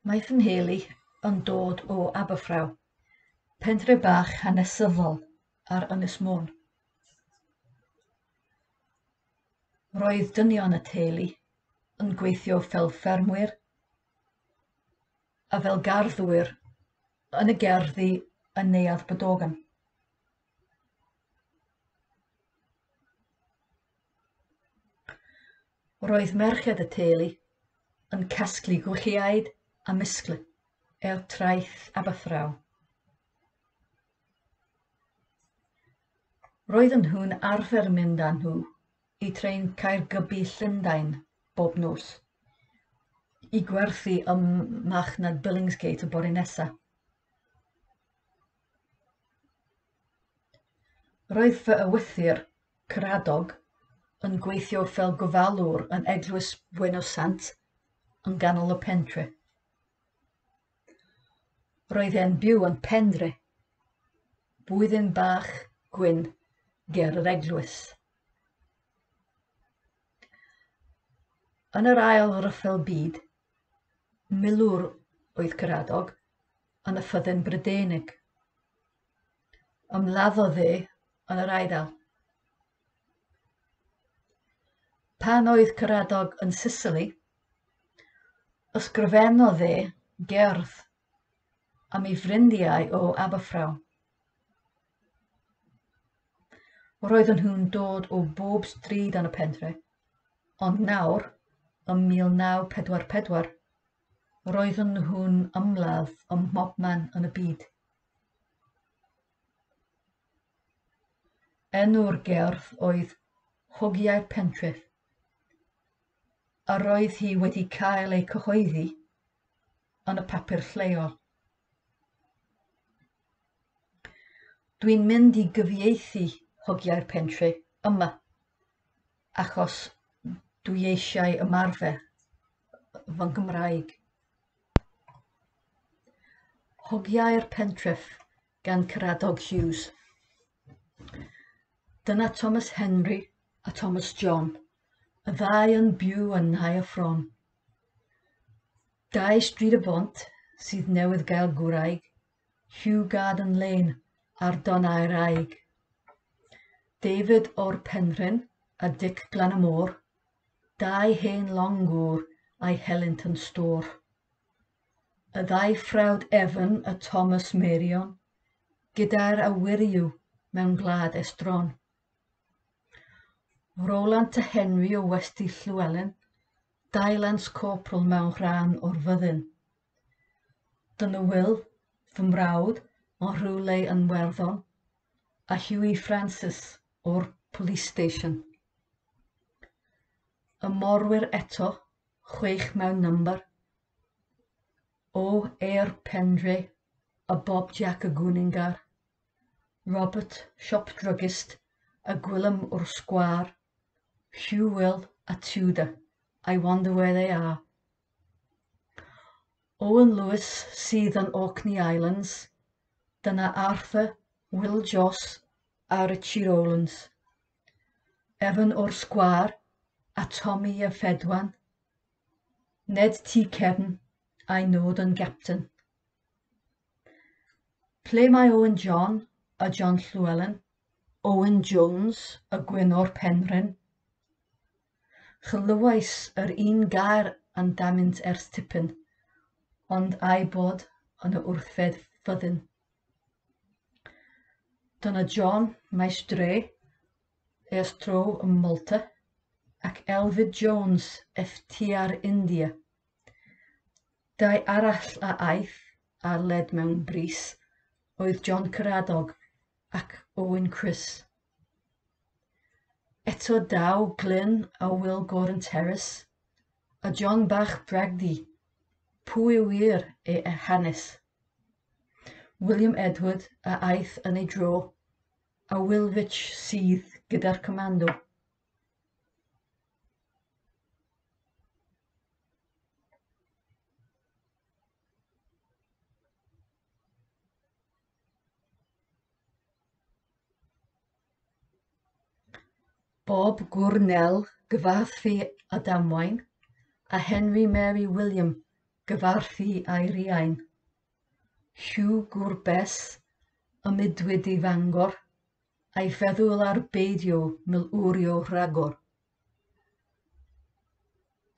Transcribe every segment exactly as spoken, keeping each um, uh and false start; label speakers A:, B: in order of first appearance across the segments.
A: Mae fy nheulu yn dod o Aberffraw, pentre bach hanesyddol ar Ynys Môn. Roedd dynion y teulu yn gweithio fel ffermwyr a fel garddwyr yn y gerddi yn Neuadd Bodorgan. Roedd merched y teulu yn casglu gwichiaid a misgl er traeth Aberffraw. Roedden nhw'n arfer mynd â nhw i trên Caergybi Llundain bob nos, i gwerthu ym marchnad Billingsgate y bore nesaf. Roedd fy ewythr, Caradog, yn gweithio fel gofalwr yn Eglwys Buenos Sant yn ganol y pentre. Roedd e'n byw yn Pendre, bwthyn bach gwyn ger yr eglwys. Yn yr Ail Ryfel Byd, milwr oedd Caradog yn y Fyddin Brydeinig. Ymladdodd e yn yr Eidal. Pan oedd Caradog yn Sicily, ysgrifennodd e gerdd am ei ffrindiau o Aberffraw. Roedden nhw'n dod o bob stryd yn y pentre, ond nawr, ym mil naw pedwar pedwar, roedden nhw'n ymladd ym mhobman yn y byd. Enw'r gerdd oedd Hogiau'r Pentref, a roedd hi wedi cael ei cyhoeddi yn y papur lleol. Dwi'n mynd i gyfieithu Hogiau'r Pentre yma, achos dwi eisiau ymarfer fy Nghymraeg. Hogiau'r Pentref gan Caradog Hughes. Dyna Thomas Henry a Thomas John, y ddau yn byw yn Nhair Fron. Dau Stryd y Bont sydd newydd gael gwraig, Hugh Garden Lane ar Donnau'r Aig. David o'r Penrhyn a Dic Glan y Môr, dau hen longwr a'i helynt yn stôr. Y ddau frawd Evan a Thomas Marion, gyda'r awyriw mewn gwlad estron. Rolant a Henry o Westy Llywelyn, dau lance corporal mewn rhan o'r fyddin. Dyna Will, fy mrawd, o rhywle yn Werddon, a Hughie Francis o'r police station. Y morwyr eto, chwech mewn number, o Air Pendre a Bob Jack y Gwningar, Robert, shop druggist, a Gwilym o'r Sgwâr, Hugh Will a Tudor, I wonder where they are. Owen Lewis sydd yn Orkney Islands, dyna Arthur, Will Joss a Richie Rowlands. Evan o'r Sgwâr a Tommy y Fedwan, Ned T Cefn a'i nod yn gapten. Ple mae Owen John a John Llewellyn, Owen Jones a Gwyn o'r Penrhyn? Chlywais yr un gair amdanynt ers tipyn, ond a'i bod yn y wrthfed fyddin. Dyna John Maes Dre, ers tro ym Malta, ac Elfyd Jones, F T R India. Dau arall a aeth ar led mewn brys oedd John Caradog ac Owen Chris. Eto daw Glyn a Will Gordon Terrace, a John Bach Bragdy, pwy yw wir ei hanes? William Edward a aeth yn ei dro, a Will Rich sydd gyda'r comando. Bob Gwrnel gyfarfu a damwain, a Henry Mary William gyfarfu â'i riain. Hugh gŵr Bes, ymudwyd i Fangor, a'i feddwl ar beidio milwrio rhagor.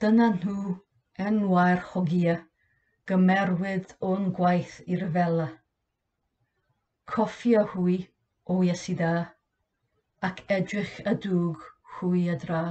A: Dyna nhw enwau'r hogia gymerwyd o'n gwaith i ryfela. Cofia hwy, o Iesu dda, ac edrych a dwg hwy a dra.